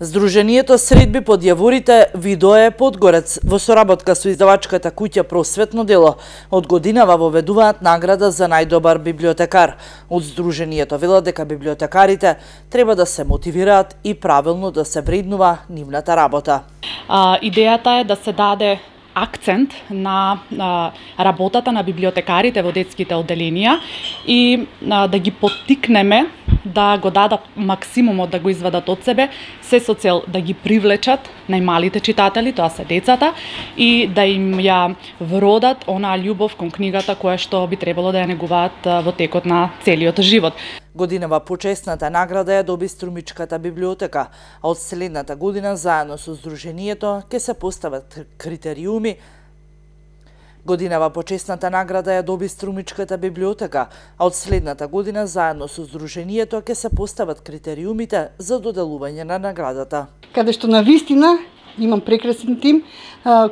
Здруженијето Средби под јаворите Видое Подгорец во соработка со издавачката куќа Просветно дело од годинава воведуваат награда за најдобар библиотекар. Од Здруженијето велат дека библиотекарите треба да се мотивираат и правилно да се вреднува нивната работа. Идејата е да се даде акцент на работата на библиотекарите во детските одделенија и да ги поттикнеме да го дадат максимумот да го извадат од себе, се со цел да ги привлечат најмалите читатели, тоа се децата, и да им ја вродат онаа љубов кон книгата која што би требало да ја негуваат во текот на целиот живот. Годинава почесната награда ја доби Струмичката библиотека, а од следната година заедно со Здруженијето ќе се постават критериуми. Годинава почесната награда ја доби Струмичката библиотека, а од следната година заедно со Здруженијето ќе се постават критериумите за доделување на наградата. Каде што навистина имам прекрасен тим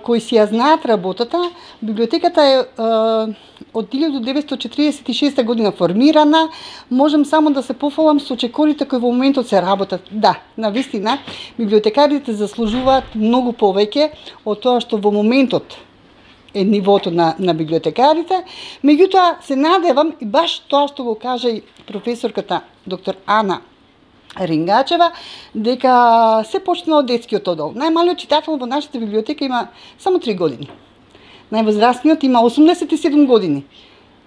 кои си ја знаат работата. Библиотеката е од 1946 година формирана. Можам само да се пофалам со чекорите кои во моментот се работат. Да, навистина, библиотекарите заслужуваат многу повеќе од тоа што во моментот е нивото на библиотекарите. Меѓутоа, се надевам и баш тоа што го кажа и професорката доктор Ана Рингачева, дека се почна од детскиот оддел. Најмалиот читател во нашата библиотека има само 3 години. Највозрастниот има 87 години.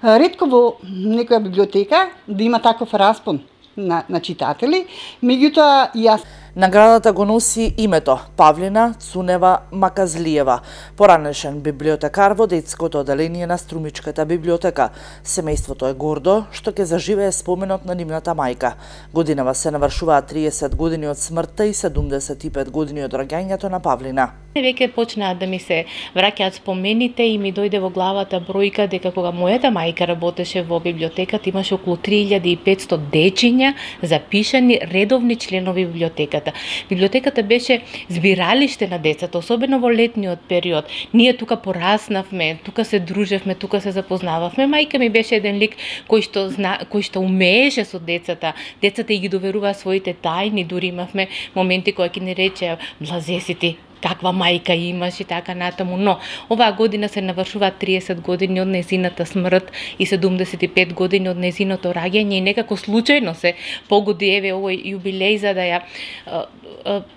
Ретко во некоја библиотека да има таков распон на читатели, меѓутоа јас наградата го носи името Павлина Цунева Маказлиева, поранешен библиотекар во детското одделение на Струмичката библиотека. Семејството е гордо што ќе заживее споменот на нивната мајка. Годинава се навршуваат 30 години од смртта и 75 години од раѓањето на Павлина. Веќе почнаа да ми се враќаат спомените и ми дојде во главата бројка дека кога мојата мајка работеше во библиотеката имаше околу 3500 дечиња запишани редовни членови библиотеката. Библиотеката беше збиралиште на децата, особено во летниот период. Ние тука пораснавме, тука се дружевме, тука се запознававме. Мајка ми беше еден лик кој што умееше со децата. Децата и ги доверуваа своите тајни, дури имавме моменти кои ќе ни речеа блазе си ти, каква мајка имаш и така натаму, но оваа година се навршуваат 30 години од незината смрт и 75 години од незиното раѓање и некако случајно се погоди еве овој јубилеј за да ја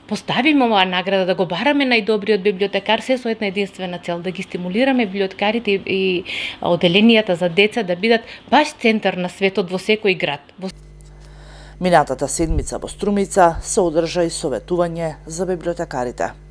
поставиме оваа награда, да го бараме најдобриот библиотекар, се со една единствена цел, да ги стимулираме библиотекарите и одделенијата за деца да бидат баш центар на светот во секој град. Минатата седмица во Струмица се одржа и советување за библиотекарите.